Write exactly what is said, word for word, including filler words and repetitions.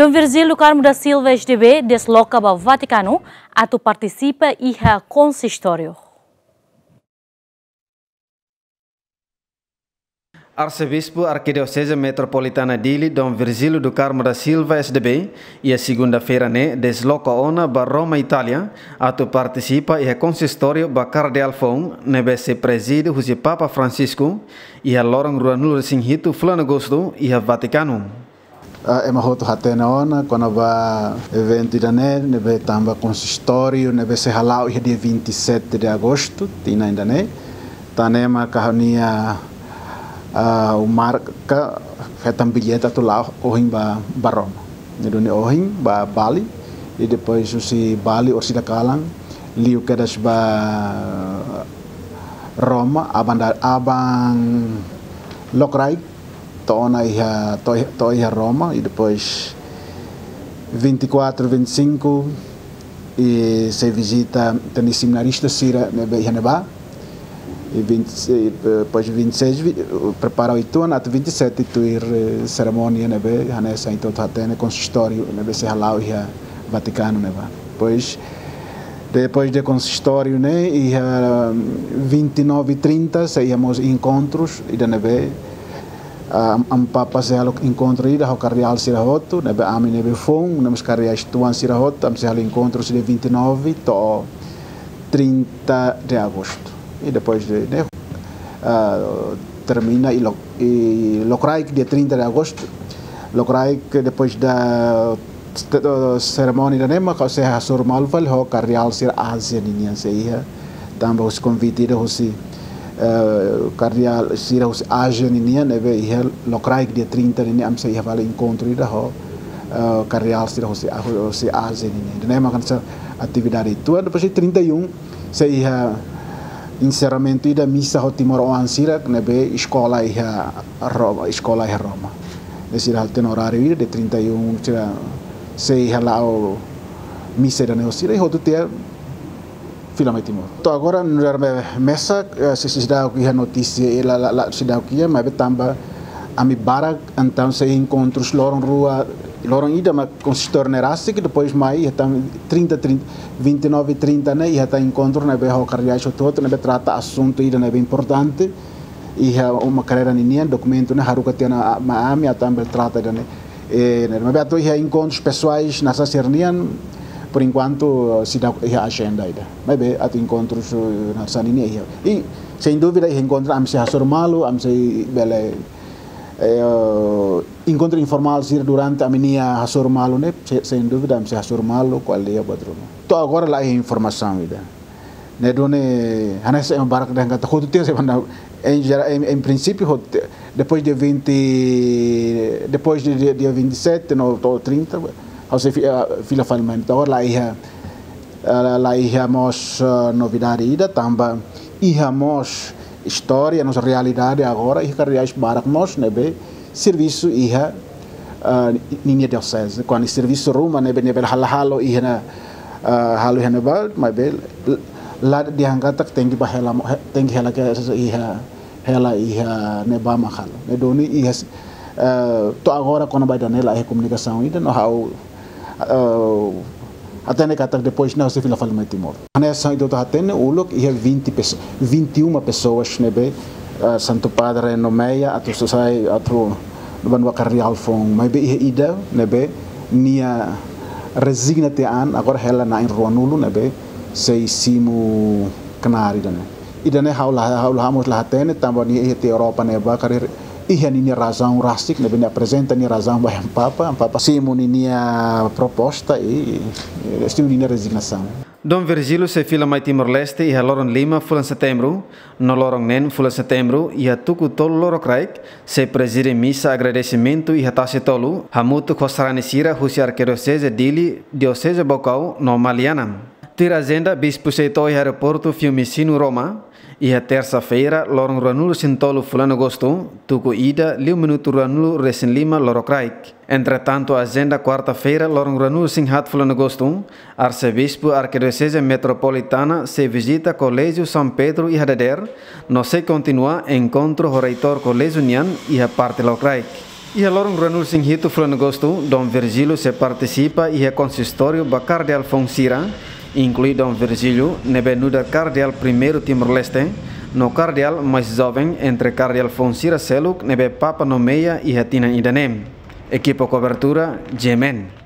Dom Virgílio Carmo da Silva, S D B, desloka ba Vatikanu atu partisipa iha konsistóriu. Arsebispu Arkidioseze Metropolitana Dili, Dom Virgílio do Carmo da Silva, S D B, iha segunda-feira ne'e desloka ona ba Roma, Itália, atu partisipa iha konsistóriu ba kardeál foun ne'ebé sei prezide husi Papa Francisco iha loron ruanulu-resin-hitu fulan Agostu iha Vatikanu. Ah, ema hotu hatene ona kona-ba eventu ida-ne'e, ne'ebé tanba konsistóriu ne'ebé sei hala'o iha dia vinte e sete de agosto, tinan ida-ne'e. Tan ne'e mak ha'u-nia, ah, ha'u marka hetan billete atu la'o ohin ba, ba Roma. Ne'e duni ohin ba Bali, i depois husi Bali Orsida Kalan, liu kedas ba Roma, aban da-, aban lokraik, to'o ona iha, to'o, to'o iha Roma, i depois vinte e quatro, vinte e cinco, i sei vizita tan ne'e seminarista sira ne'ebé iha ne'ebá. I vinte, i, eh, depois vinte e seis, vi-, prepara uitoan, atu vinte e sete tuir, eh, serimónia ne'ebé hanesan ita hotu hatene konsistóriu ne'ebé sei hala'o iha Vatikanu ne'ebá. Depois, depois de konsistóriu ne'e, iha vinte e nove e trinta sei iha mós enkontrus ida ne'ebé, ah, Amu Papa sei halo enkontru ida ho kardeál sira hotu, ne'ebé ami ne'ebé foun, no mós kardeál tuan sira hotu, ami sei halo enkontrus iha dia vinte e nove to'o trinta de agosto. I depois de, ne'e, ah, termina i lo-, i lokraik dia trinta de agosto. Lokraik depois da, eh, serimónia ida-ne'e mak ha'u sei hasoru malu fali ho kardeál sira Ázia ninian sei iha. Tanba husi konvite ida husi, eh, kardeál sira husi Ázia ninian, ne'ebé iha lokraik dia trinta ninian ami sei iha fali enkontru ida ho, eh, kardeál sira husi, husi Ázia ninian. Ida-ne'e mak hanesan atividade uitoan, depois de trinta e um, sei iha enserramentu ida misa ho timoroan sira ne'ebé eskola iha Roma, eskola iha Roma. Ne'e sira hatene oráriu ida de trinta e um sira sei hala'o misa ida-ne'e ho sira i hotu tiha fila mai Timor. To'o agora nu'udar me-, mesak, eh, sei, sei seidauk iha notísia, eh, la, la, la, seidauk iha, maibé tanba ami barak, entaun sei enkontrus loron rua, loron ida mak konsistóriu ne'e rasik, depois mai iha tan trinta, trinta, vinte e nove e trinta ne'e iha tan enkontru ne'ebé ho kardeál hotu-hotu ne'ebé trata asuntu ida ne'ebé importante. Iha uma karreira ninian, dokumentu ne'e haruka tiha ona mai ami atu ami bele trata ida-ne'e. Eh, ne'e, maibé atu iha enkontrus pesoais hanesan sira-nian, por enkuantu, eh, seidauk iha ajenda ida. Maibé atu enkontrus, eh, hanesan ninian iha. I, sein dúvida, iha enkontru ami sei hasoru malu, ami sei bele, eh, enkontru informál sira durante ami-nia hasoru malu ne'e, se-, sein dúvida, ami sei hasoru malu, ko'alia buat ruma. To'o agora la iha informasaun ida. Ne'e duni, hanesan ema barak dehan katak hotu tiha sei banda, em gera-, em, em princípio, hotu tiha, depois dia vinte, depois de dia, dia vinte e sete, no, to'o trinta, ha'u sei fi-, ah, fila fali mai. Entaun, la iha, ah, la, la iha mós, ah, novidade ida, tanba iha mós istória, nossa realidade agora, iha kardeál barak mós, ne'ebé servisu iha, ah, ninia dioseze. Kuandu servisu ruma ne'ebé, ne'ebé halo, halo iha ne'e, ah, halo iha ne'ebá, maibé la dehan katak tenke ba hela mo-, he-, tenke hela ke iha, hela iha ne'ebá mak halo. Ne'e duni iha, ah, to'o agora kona-ba ida-ne'e la iha komunikasaun ida no ha'u, ah, hatene katak depois ne'e sei fila fali mai Timor. Hanesan ita hotu hatene uluk iha vinte peso-, vinte e uma pessoas ne'ebé, ah, Santu Padre nomeia atu sosai atu banua kardeál foun. Maibé iha ida ne'ebé nia rezigna tiha an, agora hela na'in ruanulu ne'ebé sei simu knaar ida-ne'e. Ida-ne'e ha'u la, ha'u la, ha'u mós la hatene, tanba nia iha tiha Europa ne'ebá, karik iha ninia razaun rasik, ne'ebé nia aprezenta nia razaun ba Amu Papa, Amu Papa simu ninia proposta i, i simu ninia rezignasaun. Dom Virgílio sei fila mai Timor-Leste iha loron lima fulan Setembru, no loron neen fulan Setembru, iha tuku tolu lorokraik, sei prezide misa agradesimentu iha Tasi Tolu, hamutuk ho sarani sira husi Arkidioseze Dili, Dioseze Baucau, no Maliana. Tuir ajenda, bispu sei to'o iha aeroportu Fiumicino, Roma, iha tersa-feira, loron ruanulu-resin-tolu fulan Agostu, tuku ida, liu minutu ruanulu-resin-lima lorokraik. Entretantu, ajenda kuarta-feira, loron ruanulu-resin-haat fulan Agostu, Arsebispu Arkidioseze Metropolitana sei vizita Koléjiu São Pedro iha dadeer, no sei kontinua enkontru ho reitór koléjiu nian iha parte lorokraik. Iha loron ruanulu-resin-hitu fulan Agostu, Dom Virgílio sei partisipa iha konsistóriu ba kardeál foun sira, inklui Dom Virgílio ne'ebé nu'udar kardeál primeiru Timor-Leste, no kardeál mais joven entre kardeál foun sira seluk ne'ebé Papa nomeia iha tinan ida-ne'e. Ekipa kobertura, G M N.